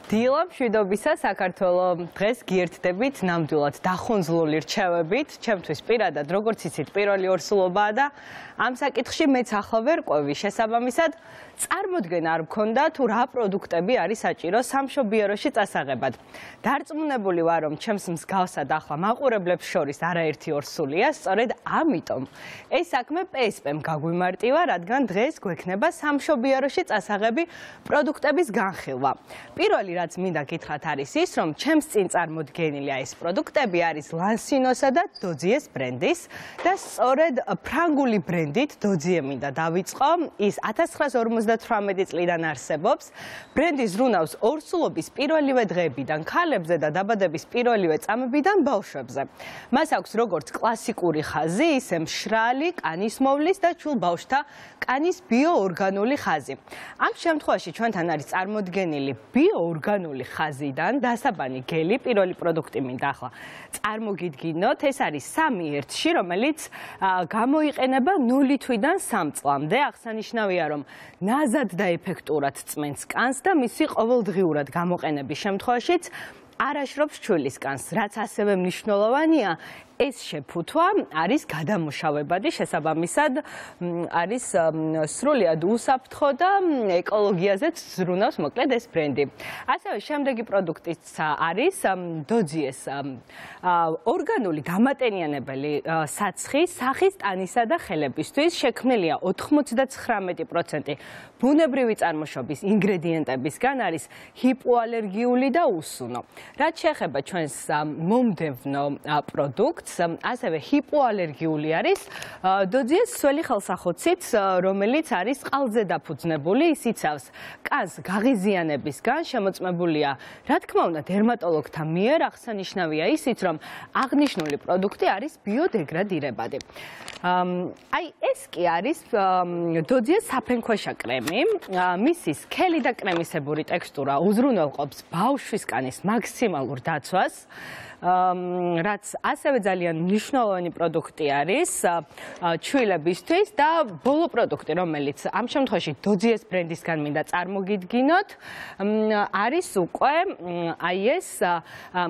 დილა მშვიდობისა საქართველო დღეს გიერთდებით ნამდვილად დახონძლული რჩევებით ჩემთვის პირადად როგორც იცით პირველი ორსულობაა და ამ საკითხში მეც ახლა ვერ ყვევი შესაბამისად წარმოდგენა არ მქონდა თუ რა პროდუქტები არის საჭირო სამშობიაროში წასაღებად დარწმუნებული ვარ რომ ჩემს მსგავსად ახლა მაყურებლებს შორის არაერთი ორსულია სწორედ ამიტომ ეს საქმე PSP-მ გაგვიმარტივა რადგან დღეს გვექნება სამშობიაროში წასაღები პროდუქტების განხილვა პირველი რაც მინდა გითხრათ არის ის, რომ ჩემს წინ წარმოდგენილია ეს პროდუქტები არის ლანსინოსა და დოძიეს ბრენდის და სწორედ ფრანგული ბრენდით დოძიე მინდა დავიწყო. ის 1958 წლიდან არსებობს. ბრენდი ზრუნავს ორსულობის პირველივე დღეებიდან ქალებზე და დაბადების პირველივე წამებიდან ბავშვებზე. მას აქვს როგორც კლასიკური ხაზი, ისე მშრალი, კანის მოვლის და ჩულ ბავშვთა კანის ბიოორგანული ხაზი. ამ შემთხვევაში ჩვენთან არის წარმოდგენილი ბიოორგანული ხაზიდან დასაბანი გელი პირველი პროდუქტი მინდა ახლა წარმოგიდგინოთ ეს არის 3-1-ში რომელიც გამოიყენება 0 თვიდან 3 წლამდე აღსანიშნავია რომ ნაზად და ეფექტურად წმენს კანს და მისი ყოველდღიურად გამოყენების შემთხვევაშიც არაშრობს ჩვილის კანს რაც ასევე მნიშვნელოვანია ეს შეფუთვა არის გადამუშავებადი შესაბამისად არის სრულიად უსაფრთხო და ეკოლოგიაზეც ზრუნავს მოკლედ ეს ბრენდი. ასევე შემდეგი პროდუქტიც არის დოძიეს ორგანული დამატენიანებელი საცხი სახის ტანისა და ხელებისთვის შექმნილია 99% ბუნებრივი წარმოშობის ინგრედიენტებისგან არის ჰიპოალერგიული და უსუნო. რაც შეეხება ჩვენს მომდევნო პროდუქტს ასევე ჰიპოალერგიული არის დოძიეს სველი ხელსახოცით, რომელიც არის წყალზე დაფუძნებული, ის იცავს კანს გაღიზიანებისგან, შემოწმებულია, რა თქმა უნდა, დერმატოლოგთა მიერ აღსანიშნავია ისიც, რომ აღნიშნული პროდუქტი არის ბიოდეგრადირებადი. აი ეს კი არის დოძიეს საფენქვეშა კრემი, მისი სქელი და კრემისებური ტექსტურა უზრუნველყოფს ბავშვის კანის მაქსიმალურ დაცვას. რაც ასევე ძალიან მნიშვნელოვანი პროდუქტი არის ჩვილებისთვის და ბოლო პროდუქტი რომელიც ამ შემთხვევაში დოძიეს ბრენდისგან მინდა წარმოგიდგინოთ არის უკვე აი ეს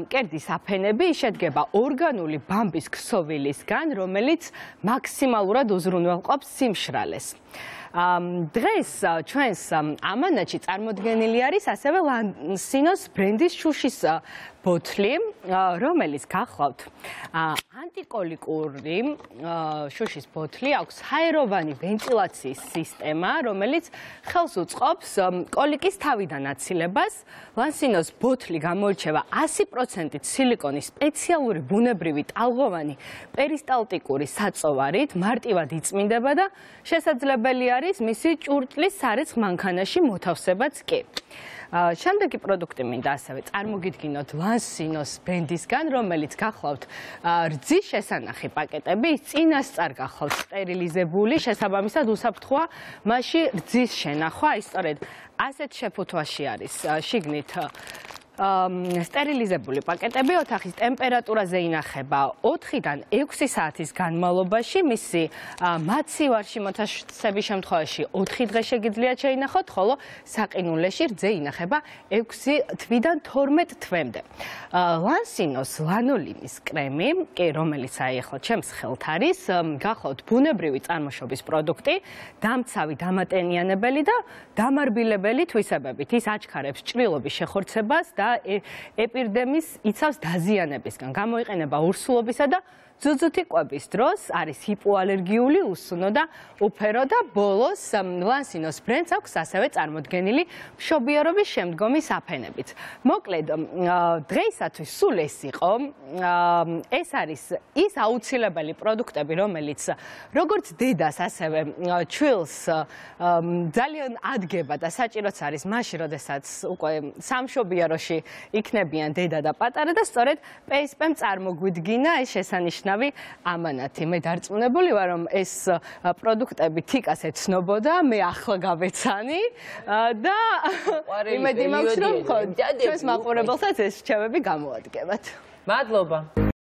მკერდის აფენები შედგება ორგანული ბამბის ქსოვილისგან რომელიც მაქსიმალურად უზრუნველყოფს სიმშრალეს. დღეს ჩვენს ამანათში წარმოდგენილი არის ასევე ლანსინოს ბრენდის შუშის ბოთლი, რომელიც გახლავთ ანტიკოლიკური შუშის ბოთლი, აქვს ჰაეროვანი ვენტილაციის სისტემა, რომელიც ხელს უწყობს კოლიკის თავიდან აცილებას. ლანსინოს ბოთლი გამოირჩევა 100% სილიკონის სპეციალური ბუნებრივი ტალღოვანი პერისტალტიკური საწოვარით, მარტივად იწმინდება და შესაძლებელი არის მისი ჭურჭლის სარეცხ მანქანაში მოთავსებაც კი. შემდეგი პროდუქტი მინდა ასევე წარმოგიდგინოთ ლანსინოს ბრენდისგან, რომელიც გახლავთ რძის შესანახი პაკეტები, ის წინასწარ გახლავთ სტერილიზებული, შესაბამისად უსაფრთხოა მასში რძის შენახვა, ის სწორედ ასეთ შეფუთვაში არის შიგნით სტერილიზებული პაკეტები ოთახის ტემპერატურაზე ინახება 4-დან 6 საათის განმავლობაში, მისი მაცივარში მოთავსების შემთხვევაში 4 დღე შეგიძლიათ შეინახოთ, ხოლო საყინულეში რძე ინახება 6 თვიდან 12 თვემდე. ლანსინოს ლანოლინის კრემი, რომელიც ახლა ჩემს ხელთ არის, გახლავთ ბუნებრივი წარმოშობის პროდუქტი, დამცავი დამატენიანებელი და დამარბილებელი თვისებებით. ის აჩქარებს ჭრილობის შეხორცებას და ეპიდემიის იცავს დაზიანებისგან. გამოიყენება ორსულობისა და ძუძუთი კვების დროს, არის ჰიპოალერგიული, უსუნო და უფერო და ბოლოს ლანსინოს ბრენდს აქვს ასევე წარმოდგენილი მშობიარობის შემდგომი საფენებით. მოკლედ, დღეისათვის სულ ეს იყო. ეს არის ის აუცილებელი პროდუქტები, რომელიც როგორც დედას, ასევე ჩვილს ძალიან ადგება და საჭიროც არის მაშინ, როდესაც უკვე სამშობიაროში იქნებიან დედა და პატარა და სწორედ PSP-მ წარმოგვიდგინა ეს შესანიშნავი ამანათი. მე დარწმუნებული ვარ, რომ ეს პროდუქტები თიკას ეცნობოდა, მე ახლა გავეცანი და იმედი მაქვს, რომ ჩვენს მაყურებელსაც ეს რჩევები გამოადგებათ. მადლობა.